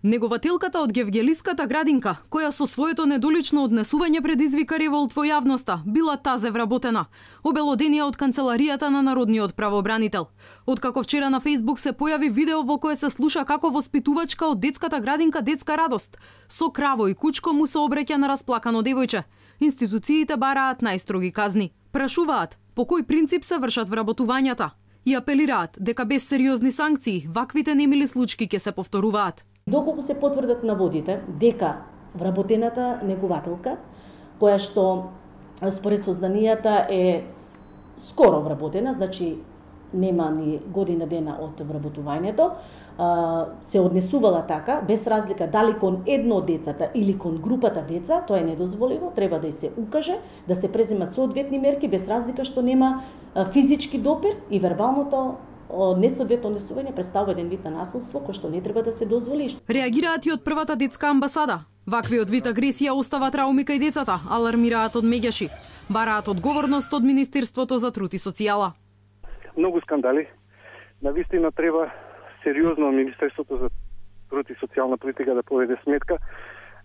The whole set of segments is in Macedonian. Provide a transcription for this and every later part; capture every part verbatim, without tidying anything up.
Негователката од Гевгелиската градинка, која со своето недолично однесување предизвика револт во јавноста, била тазе вработена, обелоденија од канцеларијата на Народниот правобранител. Откако вчера на Фејсбук се појави видео во кое се слуша како воспитувачка од детската градинка Детска радост, со краво и кучко му се обраќа на расплакано девојче. Институциите бараат најстроги казни. Прашуваат по кој принцип се вршат вработувањата и апелираат дека без сериозни санкции ваквите немили случаи ќе се повторуваат. Доколку се потврдат наводите дека вработената негователка, која што според созданијата е скоро вработена, значи нема ни година дена од вработувањето, се однесувала така, без разлика дали кон едно од децата или кон групата деца, тоа е недозволиво, треба да и се укаже, да се преземат соодветни мерки, без разлика што нема физички допир и вербалното несоодветно однесување представува еден вид на насилство кој што не треба да се дозволи. Реагираат и од првата детска амбасада. Ваквиот вид агресија остава трауми кај децата, алармираат од меѓаши. Бараат одговорност од Министерството за труд и социјала. Многу скандали. Навистина треба сериозно Министерството за труд и социјална политика да поведе сметка,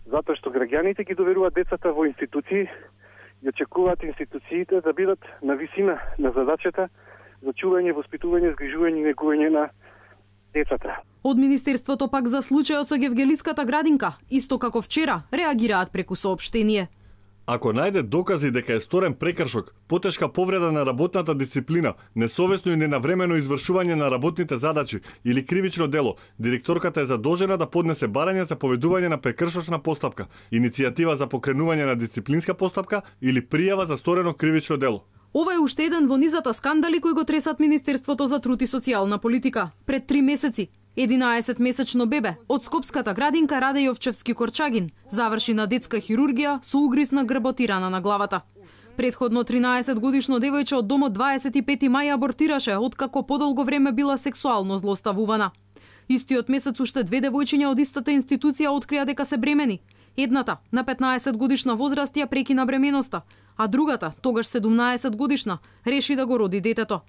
затоа што граѓаните ги доверуваат децата во институции и очекуваат институциите да бидат на висина на задачата за чување, воспитување, згрижување и негување на децата. Од Министерството пак за случајот со Гевгелиската градинка, исто како вчера, реагираат преку соопштение. Ако најде докази дека е сторен прекршок, потешка повреда на работната дисциплина, несовесно и ненавремено извршување на работните задачи или кривично дело, директорката е задолжена да поднесе барање за поведување на прекршочна постапка, иницијатива за покренување на дисциплинска постапка или пријава за сторено кривично дело. Ова е уште еден во низата скандали кои го тресат Министерството за труд и социјална политика. Пред три месеци, единаесетмесечно бебе од Скопската градинка Раде Јовчевски Корчагин заврши на детска хирургија со угриз на грботи рана на главата. Предходно тринаесетгодишно девојче од домот дваесет и пети мај абортираше, откако подолго време била сексуално злоставувана. Истиот месец уште две девојчиња од истата институција открија дека се бремени. Едната, на петнаесет годишна возраст, ја прекина бременоста, а другата, тогаш седумнаесет годишна, реши да го роди детето.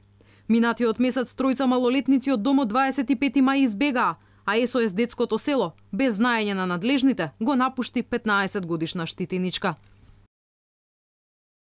Минатиот месец тројца малолетници од домот дваесет и пети мај избегаа, а Ес О Ес детското село, без знаење на надлежните, го напушти петнаесет годишна штитеничка.